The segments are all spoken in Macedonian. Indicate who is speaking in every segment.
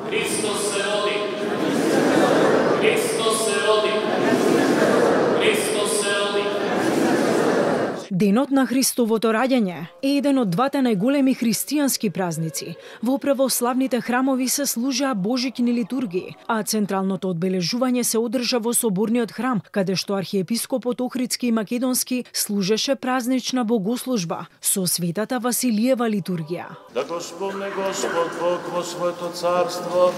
Speaker 1: Христос се роди. Христос се роди. Христос се роди.
Speaker 2: Денот на Христовото раѓање е еден од двата најголеми христијански празници. Во православните храмови се служаа божични литургии, а централното одбележување се одржа во соборниот храм, каде што архиепископот Охридски и Македонски служеше празнична богослужба со светата Василиева литургија.
Speaker 3: Да го спомне Господ Бог во своето царство,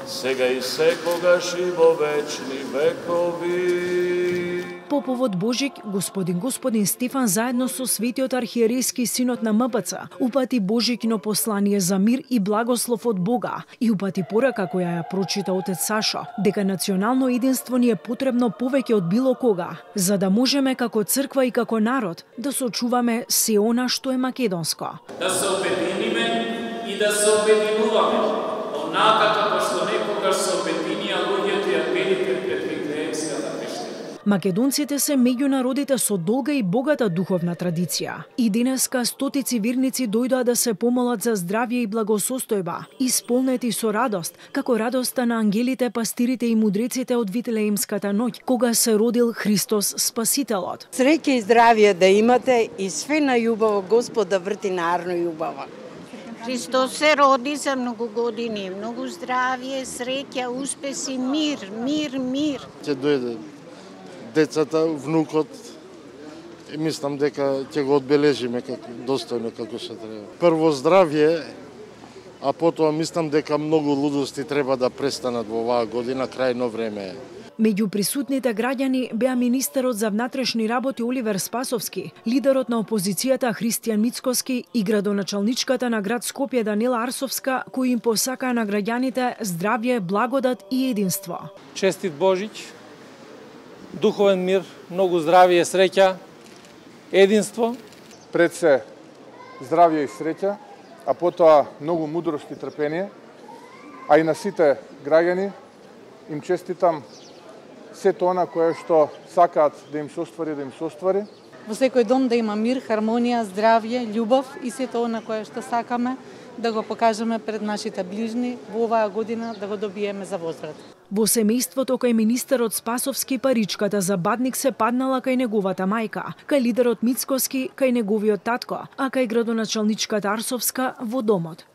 Speaker 3: сега и секогаш и во вечни векови.
Speaker 2: Поповод Божик, господин Стефан заедно со светиот архиерейски синот на МПЦ упати Божикино послание за мир и благослов од Бога и упати порака која ја прочита отец Сашо, дека национално единство ни е потребно повеќе од било кога, за да можеме како црква и како народ да сочуваме се она што е македонско.
Speaker 1: Да се обединиме и да се обединуваме, онака како што некогаш се обединија луѓето и апелите пред Вифлеемската пештера.
Speaker 2: Македонците се меѓу народите со долга и богата духовна традиција. И денеска стотици верници дојдоа да се помолат за здравје и благосостојба, исполнети со радост, како радоста на ангелите, пастирите и мудреците од Вифлеемската ноќ, кога се родил Христос Спасителот.
Speaker 4: Среќа и здравје да имате и све најубаво Господ да врти нарно љубава.
Speaker 5: Христос се роди за многу години, многу здравје, среќа, успеси, мир.
Speaker 6: Ќе дојде децата, внукот, и мислам дека ќе го одбележиме како достојно како се треба. Прво здравје, а потоа мислам дека многу лудости треба да престанат во оваа година, крајно време е.
Speaker 2: Меѓу присутните граѓани беа министерот за внатрешни работи Оливер Спасовски, лидерот на опозицијата Христијан Мицкоски и градоначалничката на град Скопје Данила Арсовска, кои им посакаа на граѓаните здравје, благодат и единство.
Speaker 7: Честит Божич, духовен мир, многу здравје, среќа, единство.
Speaker 8: Пред се здравје и среќа, а потоа многу мудрост и трпение, а и на сите граѓани им честитам сето она кое што сакаат да им се оствари,
Speaker 9: Во секој дом да има мир, хармонија, здравје, љубов и сето она кое што сакаме да го покажеме пред нашите ближни во оваа година да го добиеме за возврат.
Speaker 2: Во семејството кај министерот Спасовски паричката за бадник се паднала кај неговата мајка, кај лидерот Мицкоски кај неговиот татко, а кај градоначалничката Арсовска во домот.